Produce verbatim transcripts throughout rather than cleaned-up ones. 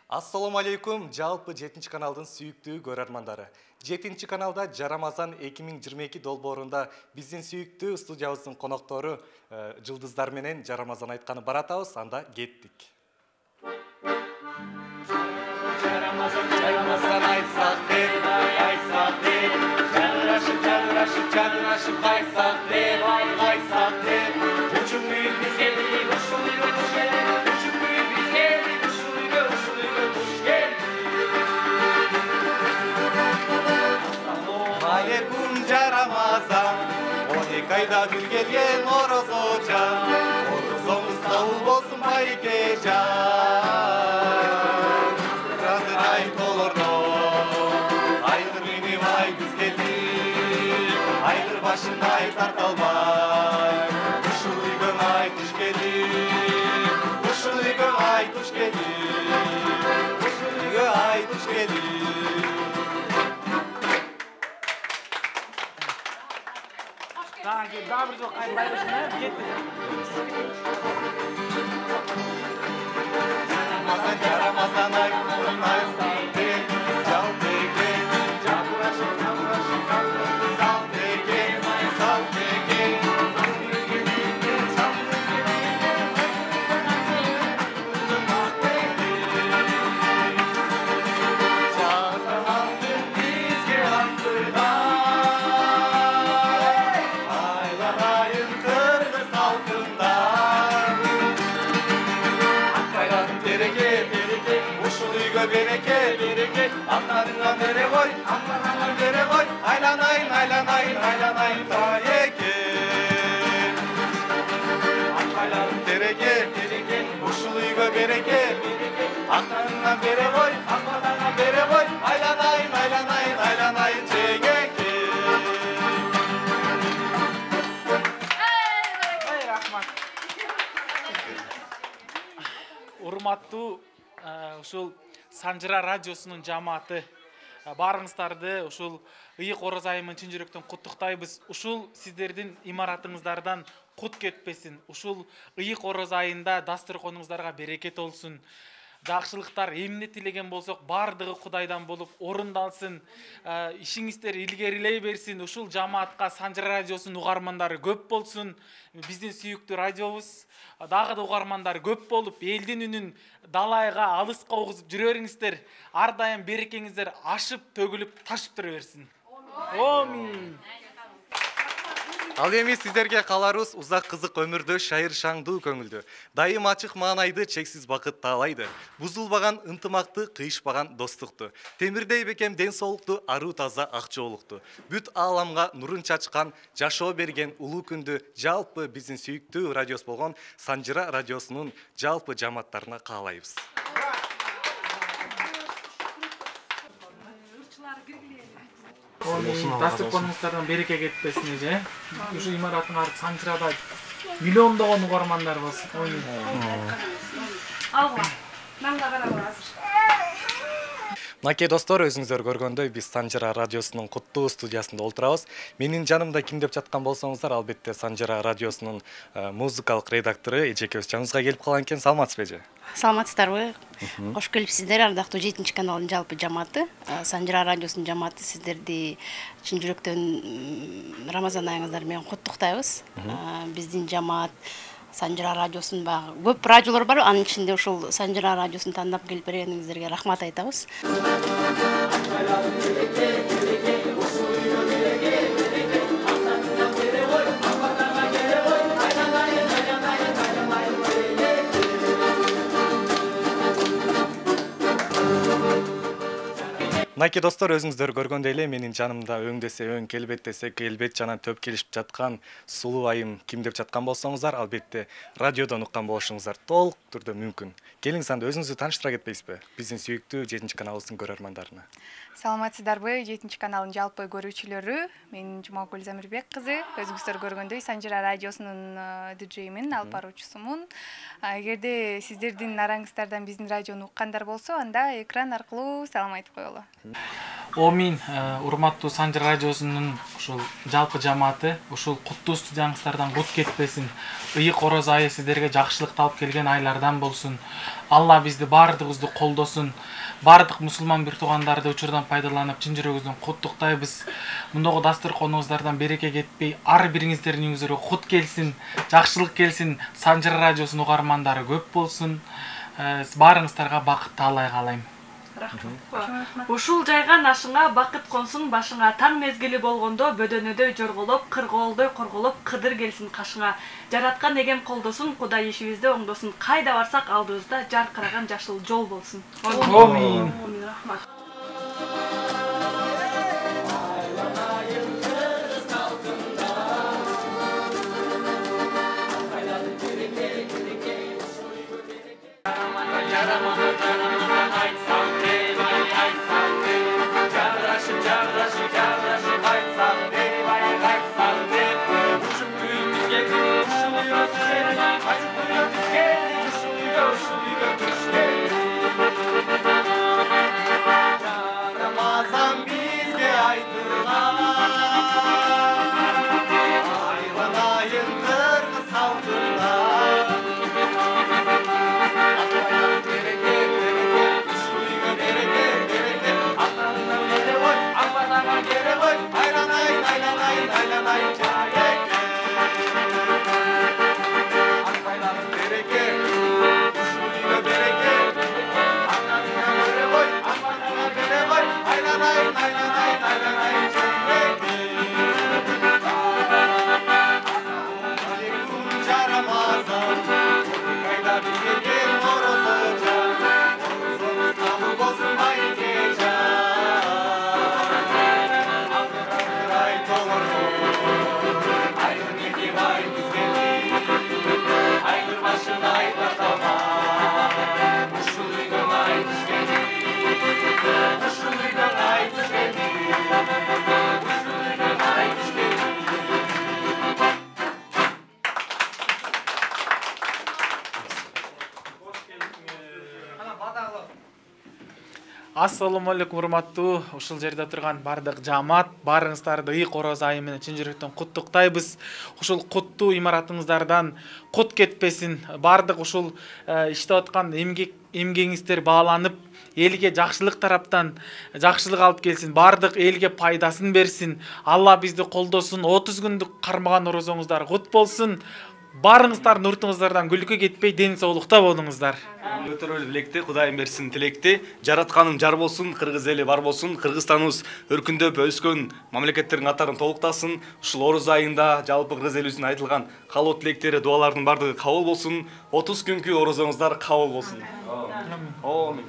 Ассаламу алейкум, жалпы жетинчи каналдын сүйүктүү көрөрмандары. жетинчи каналда Жарамазан эки миң жыйырма эки долбоорунда биздин сүйүктүү студиябыздын коноктору жылдыздар менен Жарамазан айтканы баратабыз, анда кеттик. Жарамазан, Жарамазан айтсак деп, айтсак деп, жарашып, жарашып, жарашып кайтсак деп, кайтсак деп, үчүн бүйүк биз келдик, ушул үйгө туш келдик, үчүн бүйүк биз келдик, ушул үйгө, ушул үйгө туш келдик. Алейкум Жарамазан, он эки айда бир келген орозочан, орозоңуз кабыл болсун байкежан. Жадырай толордо, айгыр мени бай күз келдик, айгыр башын ай тарталбай, ушул үйгө ай туш келдик, ушул үйгө ай туш келдик, ушул үйгө ай туш келдик. Daha bir çok kayıtlaymışsın ya, gitti. Ramazan, Ramazan ay, ay salte, salte, çaburaşı, çaburaşı, salte, salte, bereke, bereke, anlarına bere koy, anlarına bere koy, aylanayın, aylanayın, aylanayın, tayeke. Aylanın tereke, tereke, uşul uyga bereke, bereke, anlarına bere koy, anlarına bere koy, aylanayın, aylanayın, aylanayın, çekeke. Ey rahmat. Урматтуу ушул Санжыра радиосунун жамааты, баарыңыздарды ушул ыйык ороз айымын чын жүрөктөн куттуктайбыз. Ушул сиздердин имаратыңыздардан кут кетпесин. Ушул ыйык ороз айында дасторконуңуздарга берекет болсун. Жакшылыктар эмне тилеген болсок баардыгы Кудайдан болуп орундалсын. Ишиңиздер илгерилей берсин. Ушул жамаатка Санжыра радиосунун угармандары көп болсун. Биздин сүйүктүү радиобуз дагы да угармандары көп болуп, элдин үнүн далайга, алыска угузуп жүрө бериңиздер. Ар дайым берекеңиздер ашып, төгүлүп, ташып тура берсин. Амин. Ал эми сиздерге каларыбыз узак кызык өмүрдө шайыр шаңдуу көңүлдүү. Дайым ачык маанайды, чексиз бакыт таалайды. Бузулбаган ынтымакты, кыйышпаган достукту. Темирдей бекем ден соолукту, аруу таза ак жоолукту. Бүт ааламга нурун чачкан, жашоо берген улуу күндү жалпы биздин сүйүктүү радиос болгон Санжыра радиосунун жалпы жамааттарына каалайбыз. Дасторконуңуздардан береке кетпесин эже. Ушу имараттын ары Санжырада миллиондогон угармандар болсун. Алга. Маңга барабыз азыр. Мынакей достор, өзүңүздөр көргөндөй биз Санжыра радиосунун куттуу студиясында олтурабыз. Менин жанымда ким деп жаткан болсоңуздар, албетте Санжыра радиосунун музыкалык редактору эжекебиз жаныбызга келип калган экен. Саламатсызбы эже? Саламатсыздарбы? Кош келипсиздер, ардактуу жетинчи каналдын жалпы жамааты, Санжыра радиосунун жамааты. Сиздерди чын жүрөктөн Рамазан айыңыздар менен куттуктайбыз. Биздин жамаат Санжыра радиосунун багы көп радиолор бар, анын ичинде ушул Санжыра радиосун тандап келип бергениңиздерге рахмат айтабыз. Мынакей достор, өзүңүздөр көргөндөй эле менин жанымда өң десе өң, келбет десе келбет жана төп келишип жаткан сулуу айым ким деп жаткан болсоңуздар, албетте радиодон уккан болушуңуздар толук түрдө мүмкүн. Келиңиз анда өзүңүздү тааныштыра кетпейсизби? Биздин сүйүктүү жетинчи каналыбыздын көрөрмандарына. Саламатсыздарбы, жетинчи каналдын жалпы көрүүчүлөрү? Мен Жумагүл Замирбек кызы. Өзүңүздөр көргөндөй Санжыра радиосунун диджеймин, алып баруучусумун. Эгерде сиздердин араңыздардан биздин радиону уккандар болсо, анда экран аркылуу салам айтып коелу. Омин, урматтуу Санжыр радиосунун ушул жалпы жамааты, ушул куттуу студияңыздардан кут кетпесин. Ыйык ороз айы сиздерге жакшылыкты алып келген айлардан болсун. Алла бизди баардыгыбызды колдосун. Бардык мусулман бир туугандарды учурдан пайдаланып, чын жүрөгүбүздөн куттуктайбыз. Мындагы дасторконуңуздардан береке кетпей, ар бириңиздердин үйүңүзгө кут келсин, жакшылык келсин, Санжыр радиосунун угармандары көп болсун. Баарыңыздарга бакыт таалай каалайм. Ушул жайган ашыңа бакыт консун башыңа, таң мезгили болгондо бөдөнөдөй жорголоп, кыргоолдой корголоп, кыдыр келсин кашыңа. Жараткан эгем колдосун, Кудай ишибизди оңдосун. Кайда барсак алдыбызда жаркыраган жашыл жол болсун. Амин. Рахмат. Ассаламу алейкум, урматтуу ушул жерде турган бардык жамаат, баарыңыздарды ыйык ороз айы менен чын жүрөктөн куттуктайбыз. Ушул куттуу имаратыңыздардан кут кетпесин. Бардык ушул иштеп аткан эмгек эмгегиңиздер бааланып, элге жакшылык тараптан жакшылык алып келсин, бардык элге пайдасын берсин. Алла бизди колдосун. отуз күндүк кармаган орозоңуздар кут болсун. Баарыңыздардын уртуңуздардан күлкү кетпей, ден соолукта болуңуздар. Өтөрөлү тилекти, Кудайым берсин тилекти. Жаратканың жар болсун, кыргыз эли бар болсун, Кыргызстаныбыз өркүндөп өскөн мамлекеттердин катарын толуктасын. Ушул ороз айында жалпы кыргыз элибиздин айтылган каалоо тилектери, дуалардын бардыгы кабыл болсун. отуз күнкү орозоңуздар кабыл болсун. Амин.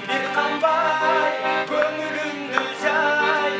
Bir kanbay, gönlümdü jay,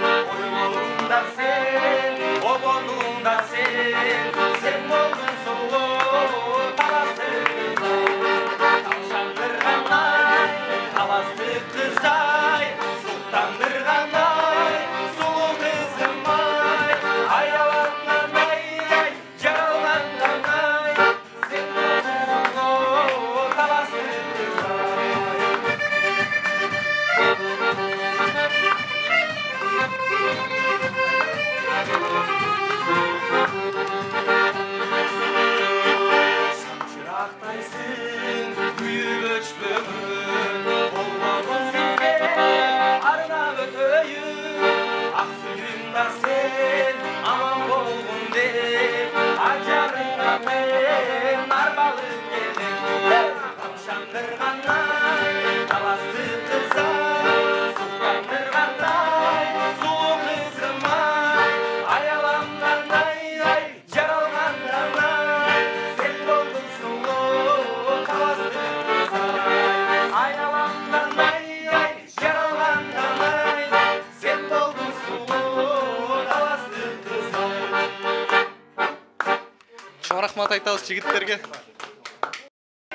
рахмат айтабыз жигиттерге.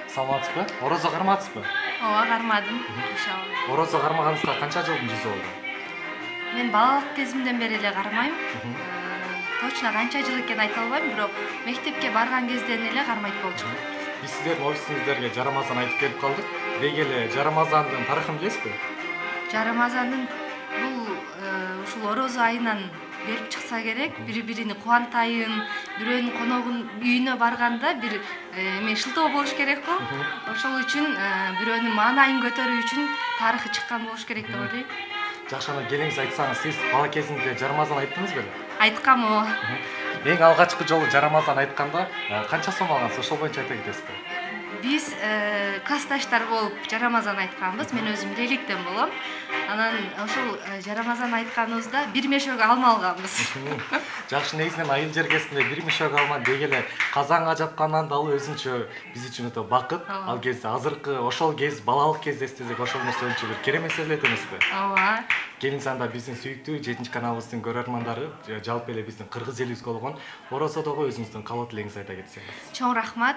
Саламатсызбы? Орозо кармадыңызбы? Ооба, кармадым. Иншалла. Орозо кармаганыңызга канча жылдын жүзү болду? Мен балалык кезимден бери эле кармайм. Точно канча жыл экенин айта албайм, бирок мектепке барган кезден эле кармайт болчумун. Биз сиздердин офисиңиздерге жарамазан айтып келип калдык. Деги эле жарамазандын тарыхын билесизби? Жарамазандын бул ушул орозо айынан келип чыкса керек, бири-бирини кубантайын, бирөөнүн коногун үйүнө барганда бир эме шылтоо болуш керек го. Ошол үчүн бирөөнүн маанайын көтөрүү үчүн тарыхы чыккан болуш керек деп ойлойм. Жакшы, ана келиңиз айтсаңыз, сиз бала кезиңизде жарамазан айттыңыз беле? Айткам, ооба. Эң алгачкы жолу жарамазан айтканда канча сом алгансыз? Ошол боюнча айта кетесизби? Биз классташтар болуп жарамазан айтканбыз. Мен өзүм Леликтен болом. Анан ошол жарамазан айтканыбызда бир мешок алма алганбыз. Жакшы, негизинен айыл жергесинде бир мешок алма деги эле казан ажаткандан дагы өзүнчө биз үчүн өтө бакыт. Ал кезде азыркы ошол кез балалык кезде эстесек ошол нерсе өчө бир керемет сезилет эмеспи? Ооба. Келиңиз, анда биздин сүйүктүү жетинчи каналыбыздын көрөрмандары, жалпы эле биздин кыргыз элибизге болгон Орозодогу өзүңүздүн каалоо тилегиңизди айта кетсеңиз. Чоң рахмат.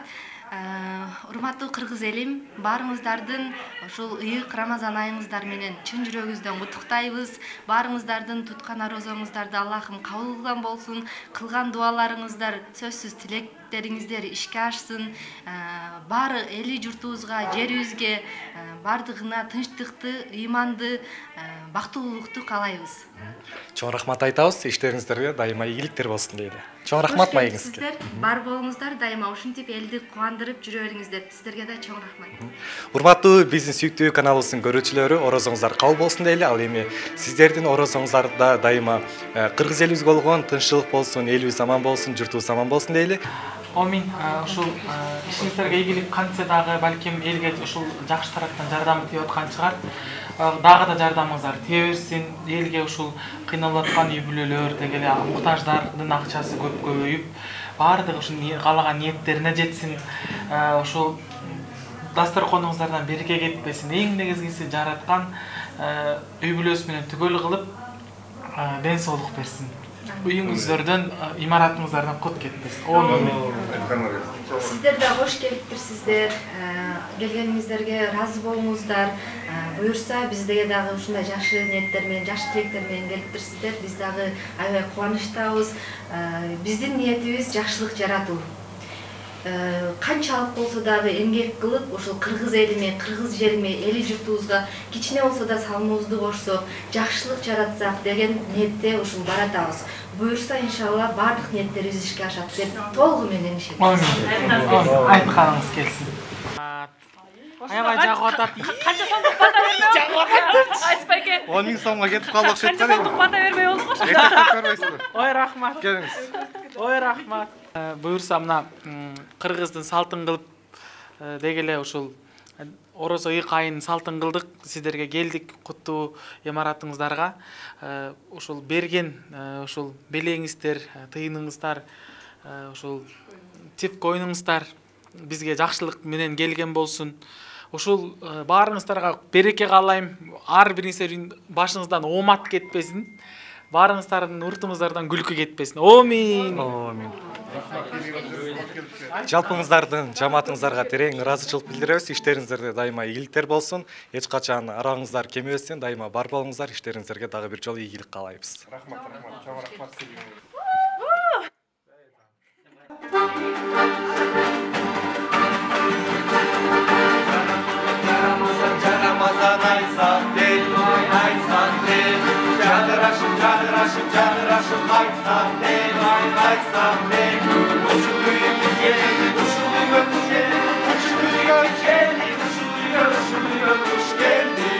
Урматтуу кыргыз элим, баарыңыздардын ушул ыйык Рамазан айыңыздар менен чын жүрөгүбүздөн куттуктайбыз. Баарыңыздардын туткан орозоңуздарды Аллахым кабыл кылган болсун. Кылган дуаларыңыздар сөзсүз тилектериңиздер ишке ашсын. Баары эли журтубузга, жерибизге бардыгына тынчтыкты, ыйманды, бактылуулукту каалайбыз. Чоң рахмат айтабыз. Иштериңиздерге дайыма ийгиликтер болсун дейли. Чоң рахмат маегиңизге. Бар болуңуздар, дайыма ушинтип элди кубандырып жүрө бериңиздер. Сиздерге да чоң рахмат. Урматтуу биздин сүйүктүү каналыбыздын көрүүчүлөрү, орозоңуздар кабыл болсун дейли. Ал эми сиздердин орозоңуздарда дайыма кыргыз элибизге болгон тынччылык болсун, элибиз аман болсун, журтубуз аман болсун дейли. Амин. Ушул ишиңиздерге ийгилик кантсе дагы балким элге ушул жакшы тараптан жардам тийип аткан чыгар. Дагы да жардамыңыздар тие берсин. Элге ушул кыйналып аткан үй бүлөлөр, деги эле муктаждардын акчасы көп көбөйүп, баардыгы ушул каалаган ниеттерине жетсин. Ушул дасторконуңуздардан береке кетпесин. Эң негизгиси жараткан үй бүлөсү менен түгөл кылып ден соолук берсин. Үйүңүздөрдөн, имаратыңыздардан кут кетпесин. Сиздер да кош келиптирсиздер. Келгениңиздерге разы болуңуздар. Буюрса биздеге дагы ушундай жакшы ниеттер менен, жакшы тилектер менен келиптирсиздер. Биз дагы аябай кубанычтабыз. Биздин ниетибиз жакшылык жаратуу. Канчалык болсо дагы эмгек кылып, ушул кыргыз элиме, кыргыз жериме, эли журтубузга кичине болсо да салымыбызды кошсок, жакшылык жаратсак деген ниетте ушул баратабыз. Буюрса иншалла бардык ниеттерибиз ишке ашат деп толугу менен ишенем. Амин. Айтканыңыз келсин. Аябай жагып атат. Канча сомдук бата берме? Жагып атат. Айтпайке. он миң сомго кетип калды окшойт. Канча сомдук бата бермей болду го. Көрбөйсүзбү? Ой, рахмат. Келиңиз. Ой, рахмат. Буюрса мына кыргыздын салтын кылып деги эле ушул орозо ыйык айынын салтын кылдык. Сиздерге келдик куттуу имаратыңыздарга. Ушул берген ушул белеңиздер, тыйыныңыздар, ушул тип койнуңуздар бизге жакшылык менен келген болсун. Ушул баарыңыздарга береке каалайм. Ар бириңиздердин башыңыздан оомат кетпесин. Баарыңыздардын уртуңуздардан күлкү кетпесин. Амин. Амин. Жалпыңыздардын, жамаатыңыздарга терең ыраазычылык билдиребиз. Иштериңиздерде дайыма ийгиликтер болсун. Эч качан араңыздар кемебесин, дайыма бар болуңуздар. Иштериңиздерге дагы бир жолу ийгилик каалайбыз. Рахмат, рахмат. Чоң рахмат сизге. Жарамазан айсак дел, айсак дел, жадырашып, жадырашып, жадырашып айсак дел, айсак дел. Ушул үйүбүзгө, ушул үйгө туш келди, ушул үйгө туш келди, ушул үйгө, ушул үйгө туш келди.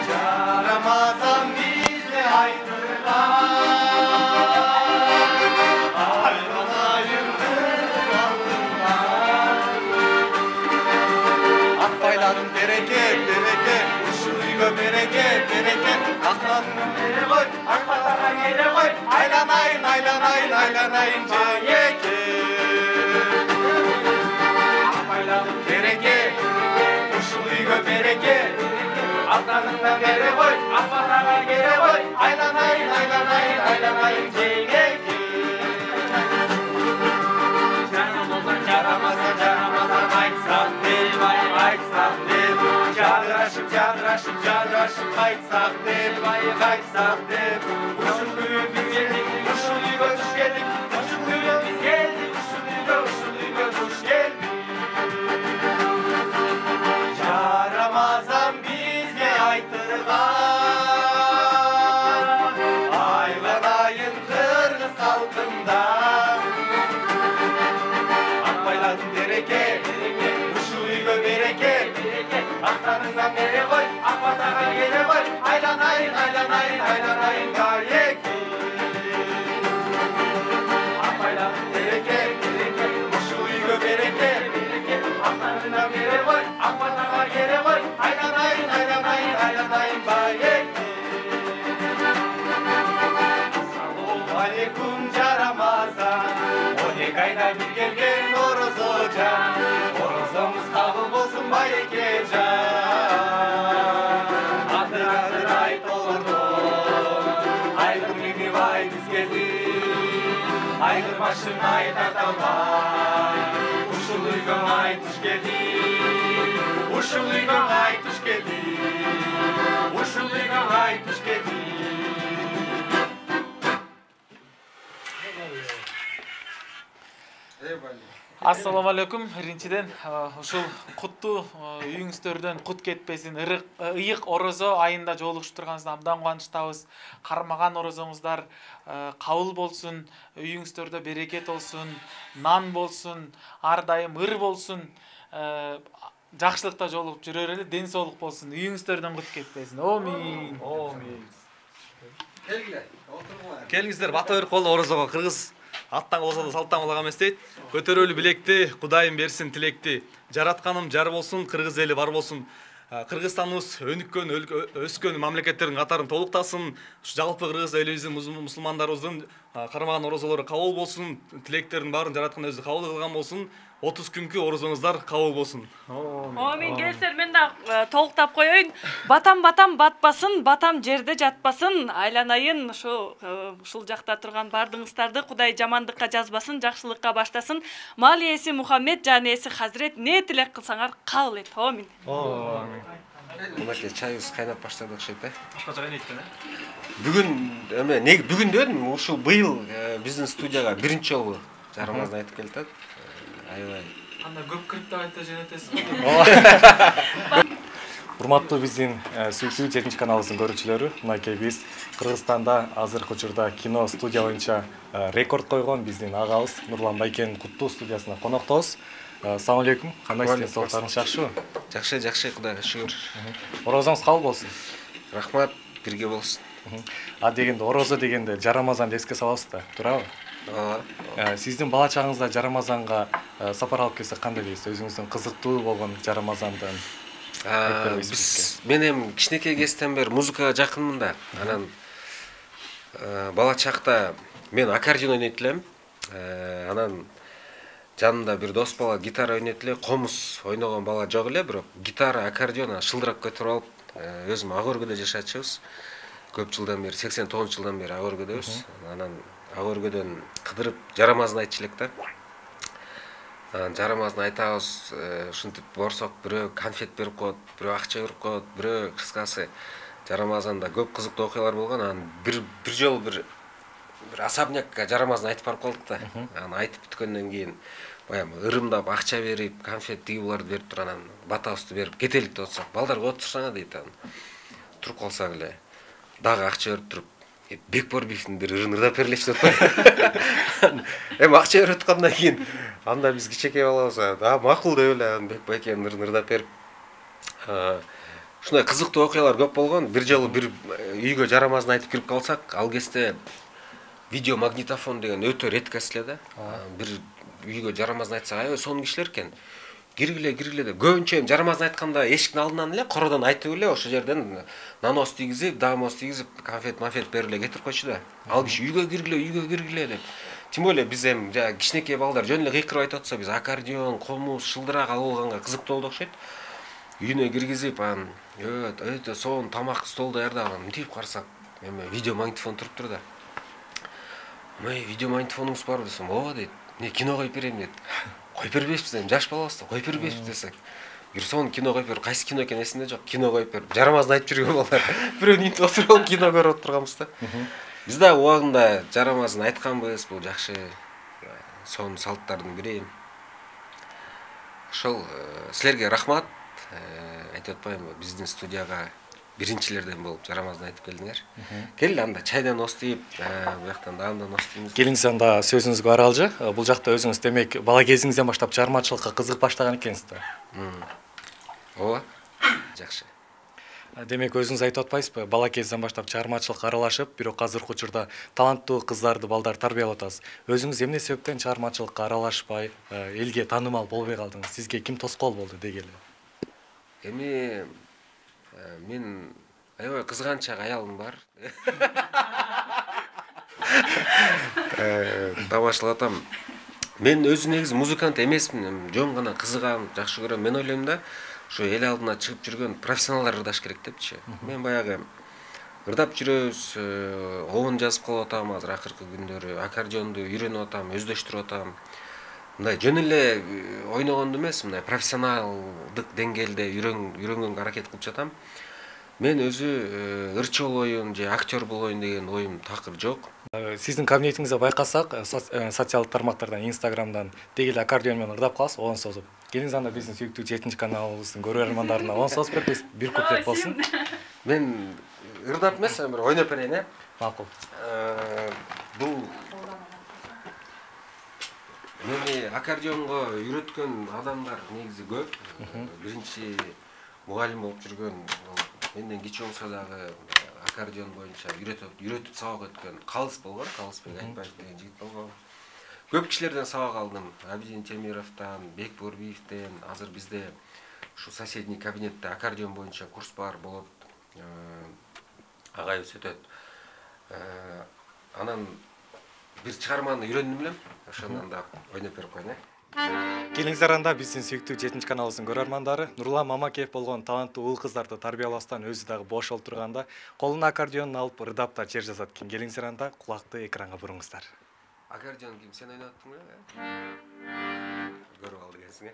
Жарамазан бизге айтылган, айран айымды алдырган. Акбайладым береке, береке, ушул үйгө береке, береке. Акбайладым бере кой, акбайларга келе кой, айланайын, айланайын, айланайын жайеке. Акбайладым береке, ушул үйгө береке. Акбайларга бере кой, акбайларга келе кой, айланайын, айланайын, айланайын жайеке. жарашып жарашып жарашып кайтсак деп кайтсак деп ушул күнү биз келдик ушул үйгө туш келдик ушул күнү биз келдик ушул үйгө ушул үйгө туш келдик жарамазан бизге айтырган айланайын кыргыз калкында акбайладын береке ушул үйгө береке актарыңдан бере кой ак батага келе кой айланайын айланайын айланайын байеке акбайладын береке ушул үйгө береке актарыңдан бере кой ак батага келе кой айланайын айланайын айланайын байеке ассалому алейкум жарамазан он эки айда бир келген орозожан орозоңуз кабыл болсун байекежан адыр адыр айт олордон айгыр бай биз келдик айгыр башын ай тарта албай ушул үйгө ай туш келдик ушул үйгө ай туш келдик ушул үйгө ай туш келдик Ассаламу алейкум. Биринчиден ушул куттуу үйүңүздөрдөн кут кетпесин. Ыйык орозо айында жолугушуп турганыбыздан абдан кубанычтабыз. Кармаган орозоңуздар кабыл болсун, үйүңүздөрдө берекет болсун, нан болсун, ар дайым ыр болсун. Жакшылыкта жолугуп жүрөр эле, ден соолук болсун. Үйүңүздөрдөн кут кетпесин. Амин. Амин. Келиңиздер, бата бер кол орозого кыргыз аттан болсо да салттан кулаган эмес дейт. Көтөрөлү билекти, Кудайым берсин тилекти. Жаратканым жар болсун, кыргыз эли бар болсун. Кыргызстаныбыз өнүккөн, өскөн мамлекеттердин катарын толуктасын. Жалпы кыргыз элибиздин мусулмандарыбыздын кармаган орозолору кабыл болсун, тилектердин баарын жараткан өзү кабыл кылган болсун. отуз күнкү орозоңуздар кабыл болсун. Амин. Келсер мен да толуктап коеюн. Батам батам батпасын, батам жерде жатпасын. Айланайын ушу ушул жакта турган бардыгыңыздарды Кудай жамандыкка жазбасын, жакшылыкка баштасын. Мал ээси Мухаммед, жан ээси Хазирет не тилек кылсаңар кабыл эт. Амин. Амин. Мынакей чайыбыз кайнап баштады окшойт да. Башкача кайнайт да. Бүгүн эме не бүгүн дедим, ушул быйыл биздин студияга биринчи жолу жарымазды айтып келатат. Аябай. Анда көп кирип да айта жөнөтөсүң. Урматтуу биздин сүйүктүү жетинчи каналыбыздын көрүүчүлөрү, мынакей биз Кыргызстанда азыркы учурда кино студия боюнча рекорд койгон биздин агабыз Нурлан Байкенин куттуу студиясына коноктобуз. Ассаламу алейкум. Кандайсыз? Соолуктарыңыз жакшыбы? Жакшы, жакшы, Кудайга шүгүр. Орозоңуз кабыл болсун. Рахмат, бирге болсун. А дегенде орозо дегенде жарамазанды эске салабыз да, туурабы? Ооба. Сиздин бала чагыңызда жарамазанга сапар алып келсек кандай дейсиз? Өзүңүздүн кызыктуу болгон жарамазандан Биз мен эми кичинекей кезден бери музыкага жакынмын да. Анан бала чакта мен аккордеон ойнойт элем. Анан жанымда бир дос бала гитара ойнойт эле, комуз ойногон бала жок эле, бирок гитара, аккордеон шылдырап көтөрүп алып, өзүм ак өргөдө жашачыбыз. Көп жылдан бери, сексен тогузунчу жылдан бери ак өргөдөбүз. Анан ак өргөдөн кыдырып жарамазын айтчу элек да. Жарамазын айтабыз, ушинтип борсок бирөө конфет берип коет, бирөө акча берип коет, бирөө кыскасы жарамазанда көп кызыктуу окуялар болгон. Анан бир бир жолу бир бир особнякка жарамазын айтып барып калдык да. Анан айтып бүткөндөн кийин баягы ырымдап акча берип, конфет тиги буларды берип туруп анан батабызды берип кетелик деп атсак, балдар отурсаңа дейт анан. Туруп калсак эле дагы акча берип туруп, Бекборбиевдин бир ырын ырдап бергилечи деп атпайбы. Эми акча берип аткандан кийин анда биз кичекей балабыз, а макул деп эле Бекбайкенин ырын ырдап берип. Ушундай кызыктуу окуялар көп болгон. Бир жолу бир үйгө жарамазын айтып кирип калсак, ал кезде видео магнитофон деген өтө редкость эле да. Бир үйгө жарамазын айтсак, аябай сонун кишилер экен. Киргиле, киргиле деп. Көбүнчө эми жарамазын айтканда эшиктин алдынан эле кородон айтып эле ошол жерден нанос тийгизип, дамос тийгизип, конфет, мафет берип эле кетирип койчу да. Ал киши үйгө киргиле, үйгө киргиле деп. Тем более биз эми жана кичинекей балдар жөн эле кыйкырып айтып атса, биз аккордеон, комуз, шылдырак алып алганга кызыктуу болду окшойт. Үйүнө киргизип, анан өт, өтө сонун тамак стол даярдап, мынтип карасак, эми видео магнитофон туруптур да. Мэй, видео магнитофонуңуз барбы десем, ооба дейт. Не, кино коюп берейин дейт. Коюп бербейсизби десем, жаш балабыз да, коюп бербейсизби десек. бир сонун кино коюп бер, кайсы кино экен эсимде жок, кино коюп бер, жарамазын айтып жүргөн балдар. Бирөөнү интип отуруп кино көрүп отурганбыз да. Биз да убагында жарамазын айтканбыз, бул жакшы сонун салттардын бири. Ошол силерге рахмат. Айтып атпаймынбы, биздин студияга биринчилерден болуп жарамазын айтып келдиңер. Кел анда чайдан остуйп, бияктан да андан остуйбуз. Келиңиз анда сөзүңүзгө аралжы. Бул жакта өзүңүз демек бала кезиңизден баштап чыгармачылыкка кызыгып баштаган экенсиз да. Ооба. Жакшы. Демек өзүңүз айтып атпайсызбы, бала кезден баштап чыгармачылыкка аралашып, бирок азыркы учурда таланттуу кыздарды балдар тарбиялап атасыз. Өзүңүз эмне себептен чыгармачылыкка аралашпай, элге таанымал болбой калдыңыз? Сизге ким тоскоол болду дегеле? Эми мен аябай кызганчак аялым бар. Тамашалап атам. Мен өзү негизи музыкант эмесмин, жөн гана кызыгам, жакшы көрөм. Мен ойлойм да, ушу эл алдына чыгып жүргөн профессионалдар ырдаш керек депчи. Мен баягы ырдап жүрөбүз, обун жазып калып атам азыр акыркы күндөрү, аккордеонду үйрөнүп атам, өздөштүрүп атам. Мындай жөн эле ойногондо эмес, мындай профессионалдык деңгээлде үйрөнгөнгө аракет кылып жатам. Мен өзү ырчы болоюн же актер болоюн деген оюм такыр жок. Сиздин кабинетиңизде байкасак, социалдык тармактардан, Инстаграмдан дегеле аккордеон менен ырдап каласыз, оон созуп. Келиңиз анда биздин сүйүктүү жетинчи каналыбыздын көрөрмандарына оон созуп беребиз, бир куплет болсун. Мен ырдап эмес, бир ойноп берейин, э? Макул. Бул мени аккордеонго үйрөткөн адамдар негизи көп. Биринчи мугалим болуп жүргөн, менден кичүү болсо дагы аккордеон боюнча үйрөтүп үйрөтүп сабак өткөн Калыс болгон, Калысбек Айтбаев деген жигит болгон. Көп кишилерден сабак алдым. Абидин Темировдон, Бек Борбиевден, азыр бизде ушу соседний кабинетте аккордеон боюнча курс бар болот. Агайыбыз өтөт. Анан бир чыгарманы үйрөндүм элем. Ошондон да ойноп берип коеюн, э? Келиңиздер анда биздин сүйүктүү жетинчи каналыбыздын көрөрмандары Нурлан Мамакеев болгон таланттуу уул кыздарды тарбиялабастан өзү дагы бош отурганда колуна аккордеонун алып ырдап да чер жазат экен. Келиңиздер анда кулакты экранга буруңуздар. Аккордеон ким, сен ойноп аттың беле? Көрүп алды экенсиң, э?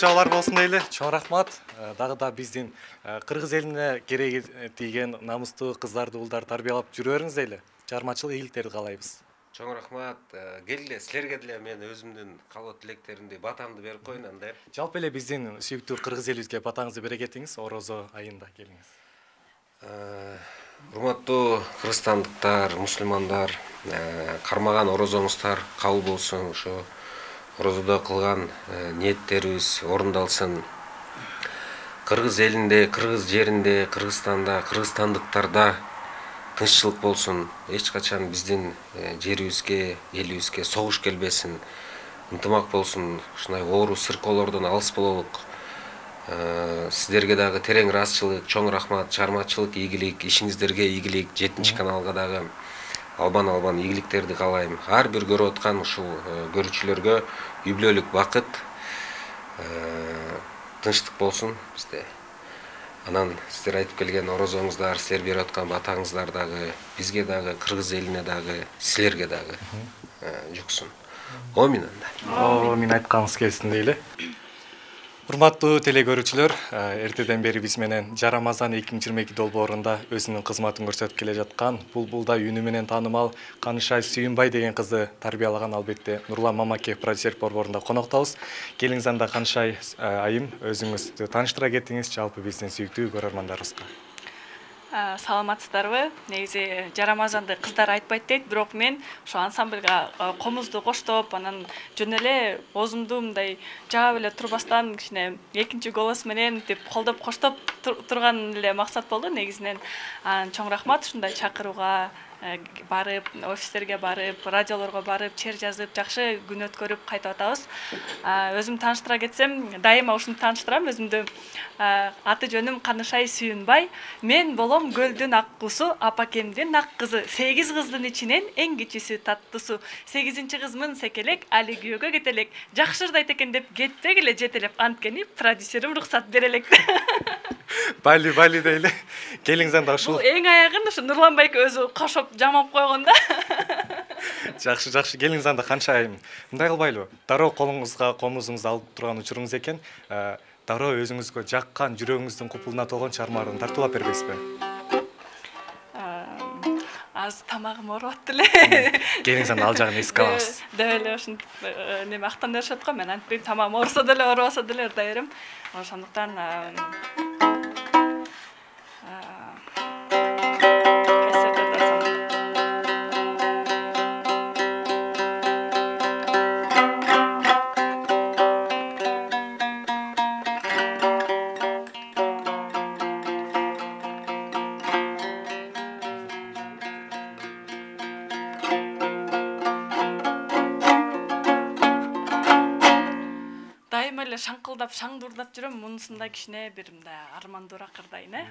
Чабалар болсун дейли. Чоң рахмат. Дагы да биздин кыргыз элине кереги тийген намустуу кыздарды, уулдарды тарбиялап жүрө бериңиз дейли. Чыгармачылык ийгиликтерди каалайбыз. Чоң рахмат. Келгиле, силерге деле мен өзүмдүн калоо тилектеримди, батамды берип коеюн анда. Жалпы эле биздин сүйүктүү кыргыз элибизге батаңызды бере кетиңиз, Орозо айында келиңиз. Урматтуу кыргызстандыктар, мусулмандар, кармаган орозоңуздар кабыл болсун, ошо орозодо кылган ниеттерибиз орундалсын. Кыргыз элинде, кыргыз жеринде, Кыргызстанда, кыргызстандыктарда тынччылык болсун. Эч качан биздин жерибизге, элибизге согуш келбесин. Ынтымак болсун. Ушундай оору сыркоолордон алыс бололук. Сиздерге дагы терең ыраазычылык, чоң рахмат, чыгармачылык ийгилик, ишиңиздерге ийгилик, жетинчи каналга дагы албан-албан ийгиликтерди каалайм. Ар бир көрүп аткан ушул көрүүчүлөргө юбилейлик бакыт, тынчтык болсун бизде. Анан сиздер айтып келген орозоңуздар, силер берип аткан батаңыздар дагы бизге дагы, кыргыз элине дагы, силерге дагы жуксун. Омин анда. Омин айтканыңыз келсин дейли. Урматтуу теле көрүүчүлөр, эртеден бери биз менен Жарамазан эки миң жыйырма эки долбоорунда өзүнүн кызматын көрсөтүп келе жаткан Булбулдай үнү менен таанымал Канышай Сүйүнбай деген кызды тарбиялаган албетте Нурлан Мамакеев продюсер борборунда коноктобуз. Келиңиз анда Канышай айым өзүңүздү тааныштыра кетиңиз жалпы биздин сүйүктүү көрөрмандарыбызга. Саламатсыздарбы? Негизи жарамазанды кыздар айтпайт дейт, бирок мен ошо ансамблга комузду коштоп, анан жөн эле оозумду мындай жаап эле турбастан кичине экинчи голос менен деп колдоп коштоп турган эле максат болду негизинен. Анан чоң рахмат ушундай чакырууга барып, офистерге барып, радиолорго барып, чер жазып, жакшы күн өткөрүп кайтып атабыз. Өзүм тааныштыра кетсем, дайыма ушуну тааныштырам өзүмдү. Аты жөнүм Канышай Сүйүнбай. Мен болом көлдүн ак кусу, апакемдин ак кызы. сегиз кыздын ичинен эң кичүүсү таттуусу. сегизинчи кызмын секелек, али күйөөгө кетелек. Жакшы ырдайт экен деп кетпегиле жетелеп, анткени продюсерим уруксат берелек. Бали бали дейли. Келиңиз анда ушул. Бул эң аягын ушу Нурлан байке өзү кошоп жамап койгон да. Жакшы, жакшы. Келиңиз анда Канышайым. Мындай кылбайлыбы? Дароо колуңузга комузуңузду алып турган учуруңуз экен. Дароо өзүңүзгө жаккан, жүрөгүңүздүн купулуна толгон чыгармаларды тартуулап бербейсизби? Аз тамагым ооруп аттı эле. Келиңиз анда ал жагын эске алабыз. Деп эле ушинтип неме актанышат го, мен антпейм, тамагым ооруса деле, оорубаса деле ырдай берем. Ошондуктан шаңкылдап, шаңдурдап жүрөм, мунусунда кичине бир мындай армандуураак ырдайын, э?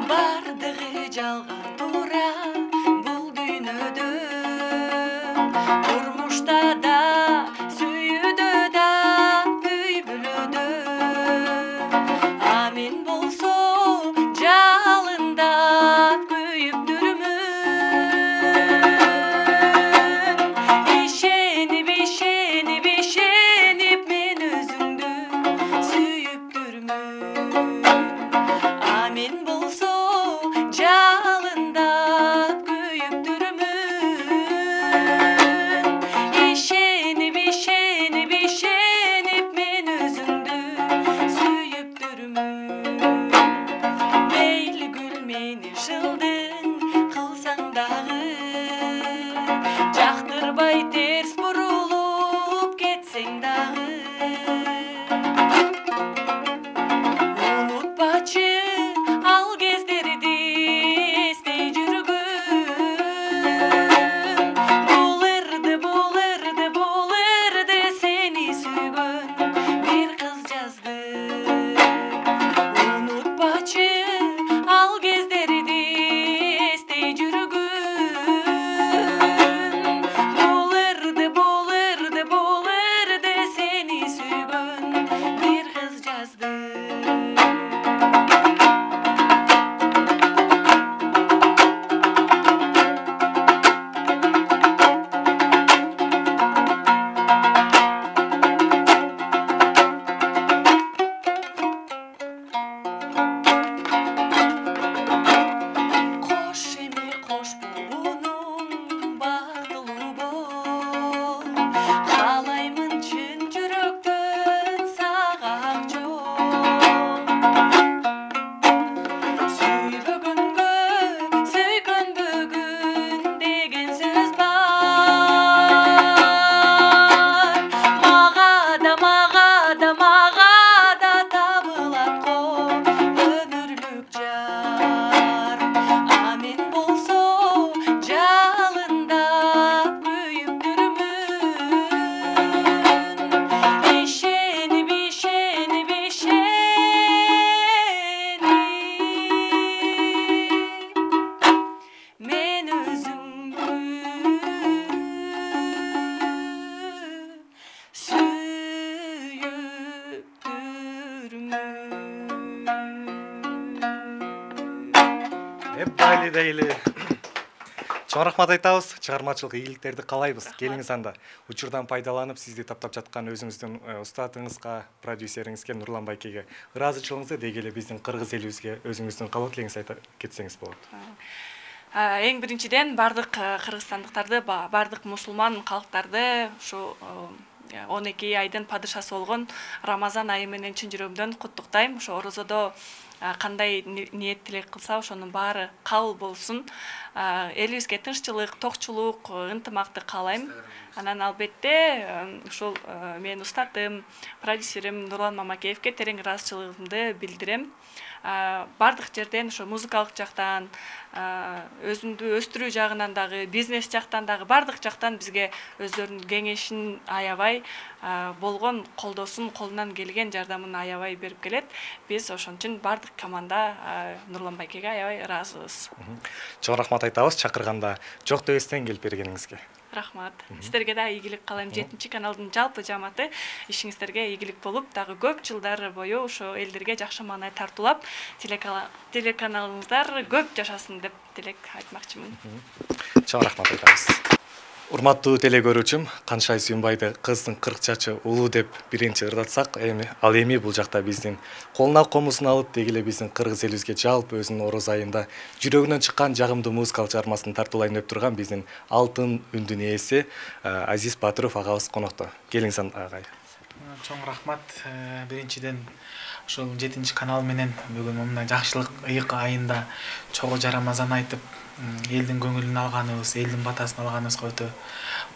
Бардыгы жалган туура бул дүйнөдө, турмушта да, сүйүүдө да, үй бүлөдө. А мен болсо жалындап күйүп жүрмүн. Ишенип, ишенип, ишенип мен өзүңдү сүйүп жүрмүн. А мен болсо жалындап күйүп жүрмүн. Ишенип, ишенип, ишенип мен өзүңдү сүйүп жүрмүн. Мейли гүл мени жылдың кылсаң дагы, жактырбай терс бурулуп кетсең дагы. Унутпачы ал кездерди эстей жүргүн. Бул эрде, бул эрде, бул эрде сени сүйгөн бир кыз жазды. Унутпачы ал кездерди эстей жүргүн. Бул эрде, бул эрде, бул эрде сени сүйгөн бир кыз жазды. Кош эми кош болуунун бактылуу бол. Каалаймын чын жүрөктөн сага ак жол. Сүйбөгөнгө сөйкөнбөгүн деген сөз бар. Мага да, мага да, мага да табылат го өмүрлүк жар. А мен болсо жалындап күйүп жүрмүн. Ишенип, ишенип, ишенип мен өзүңдү сүйүп жүрмүн. Эп бали дейли. Чоң рахмат айтабыз. Чыгармачылык ийгиликтерди каалайбыз. Келиңиз анда. Учурдан пайдаланып сизди таптап жаткан өзүңүздүн устатыңызга, продюсериңизге Нурлан байкеге ыраазычылыгыңызды деги эле биздин кыргыз элибизге өзүңүздүн калоо тилегиңизди айта кетсеңиз болот. Эң биринчиден бардык кыргызстандыктарды, бардык мусулман калктарды ушу он эки айдын падышасы болгон Рамазан айы менен чын жүрөгүмдөн куттуктайм. Ошо орозодо кандай ниет тилек кылса ошонун баары кабыл болсун. Элибизге тынччылык, токчулук, ынтымакты каалайм. Анан албетте ушул менин устатым, продюсерим Нурлан Мамакеевке терең ыраазычылыгымды билдирем. Бардык жерден ошо музыкалык жактан, өзүмдү өстүрүү жагынан дагы, бизнес жактан дагы бардык жактан бизге өздөрүнүн кеңешин аябай болгон колдоосун, колунан келген жардамын аябай берип келет. Биз ошон үчүн бардык команда Нурлан байкеге аябай ыраазыбыз. Чоң рахмат айтабыз чакырганда жок дебестен келип бергениңизге. Рахмат. Сиздерге да ийгилик каалайм. жетинчи каналдын жалпы жамааты ишиңиздерге ийгилик болуп, дагы көп жылдар бою ошо элдерге жакшы маанай тартуулап, телеканалыңыздар көп жашасын деп тилек айтмакчымын. Чоң рахмат айтабыз. Урматтуу теле көрүүчүм, Каншай Сүйүнбайды кыздын кырк чачы улуу деп биринчи ырдатсак, эми ал эми бул жакта биздин колуна комузун алып, деги эле биздин кыргыз элибизге жалпы өзүнүн ороз айында жүрөгүнөн чыккан жагымдуу музыкалык чыгармасын тартуулайм деп турган биздин алтын үндүн ээси Азиз Батыров агабыз конокто. Келиңиз агай. Чоң рахмат. Биринчиден ушул жетинчи канал менен бүгүн мындай жакшылык ыйык айында чогуу Рамазан айтып, элдин көңүлүн алганыбыз, элдин батасын алганыбызга өтө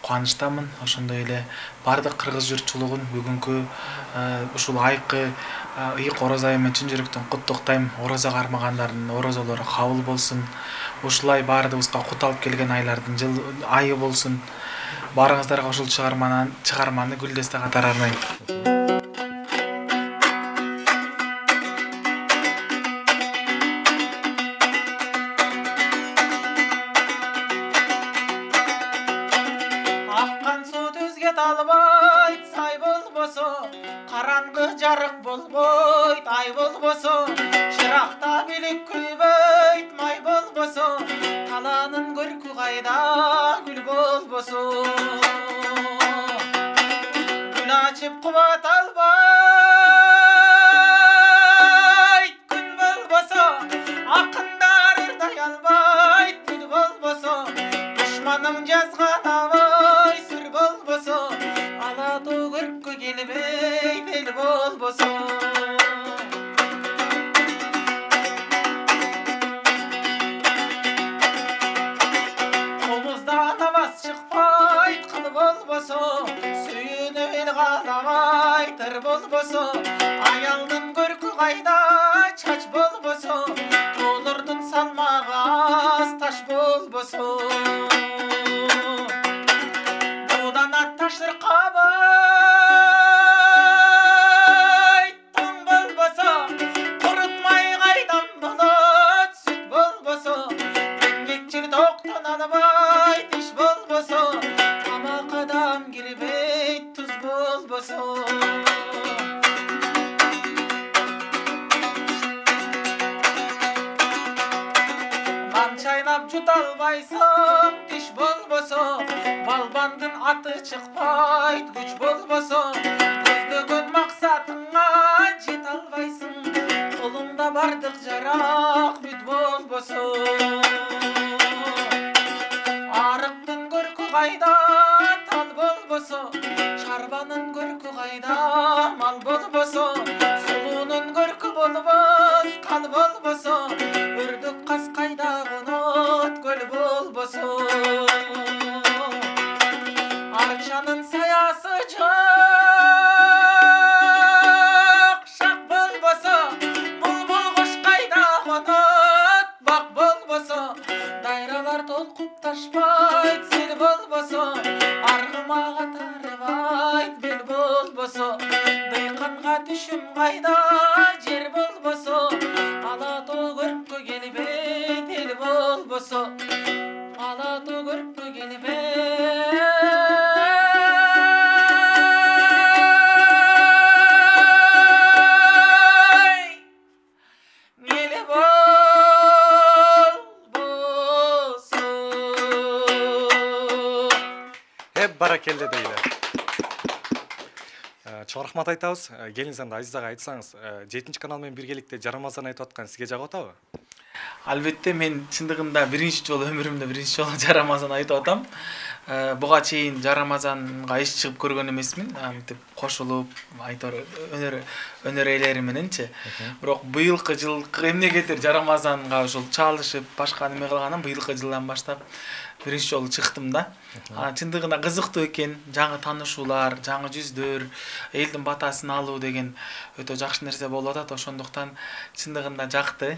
кубанычтамын. Ошондой эле бардык кыргыз журтчулугун бүгүнкү ушул айкы ыйык ороз айы менен чын жүрөктөн куттуктайм. Орозо кармагандардын орозолору кабыл болсун. Ушулай баарыбызга кут алып келген айлардын жыл айы болсун. Баарыңыздарга ушул чыгарманы чыгарманы Гүлдесте катары арнайм. жарык болбойт, ай болбосо, чыракта билик күлбөйт, май болбосо, талаанын көркү кайда, гүл болбосо. Гүл ачып кубат албайт, күн болбосо, акындар ырдай албайт, гүл болбосо, душманым жазган абай сүр болбосо, ала тоо көрккө келбейт, эл болбосо. Комуздан аваз чыкпайт, кыл болбосо, сүйүнүп эл кааламайт, ыр болбосо, аялдын көркү кайда, чач болбосо, тоолордун салмагы аз, таш болбосо. Будан атташ ыркабайт, тоң болбосо, курутмай кайдан болот, сүт болбосо, эмгек жер токтон албайт, иш болбосо, тамак адам кирбейт, туз болбосо. Нан чайнап жута албайсың, тиш болбосо, балбандын аты чыкпайт, күч болбосо, көздөгөн максатыңа жете албайсың, колуңда бардык жарак бүт болбосо. Арыктын көркү кайда, тал болбосо, чарбанын көркү кайда, мал болбосо, сулуунун көркү болбос, кал болбосо, өрдөк каз кайда конот, көл болбосо. Арчанын саясы жок, шак болбосо, булбул куш кайда конот, бак болбосо, дайралар толкуп ташпайт, сел болбосо, аргымага тарбайт, бел болбосо, дыйканга түшүм кайда, жер болбосо, ала тоо көрккө келбейт, эл болбосо, ала тоо көрккө келбейт. Эл болбосо. баракелде дейли. Чоң рахмат айтабыз. Келиңиз анда Азиз ага айтсаңыз, жетинчи канал менен биргеликте жарамазан айтып аткан сизге жагып атабы? Албетте мен чындыгында биринчи жолу өмүрүмдө биринчи жолу жарамазан айтып атам. Буга чейин жарамазанга эч чыгып көргөн эмесмин. Мынтип кошулуп, айтор өнөр өнөр ээлери мененчи. Бирок быйылкы жылкы эмнегедир жарамазанга ушул чалышып, башка неме кылгандан быйылкы жылдан баштап биринчи жолу чыктым да. Чындыгында кызыктуу экен, жаңы таанышуулар, жаңы жүздөр, элдин батасын алуу деген өтө жакшы нерсе болуп атат. Ошондуктан чындыгында жакты.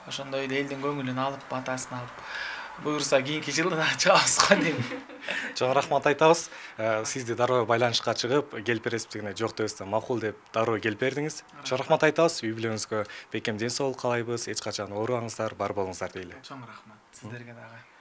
Ошондой эле элдин көңүлүн алып, батасын алып, буюрса кийинки жылы да чыгабыз го дейм. Чоң рахмат айтабыз. Сизди дароо байланышка чыгып, келип бересиз дегенде жок дебестен макул деп дароо келип бердиңиз. Чоң рахмат айтабыз. Үй бүлөңүзгө бекем ден соолук каалайбыз. Эч качан оорубаңыздар, бар болуңуздар дейли. Чоң рахмат сиздерге дагы.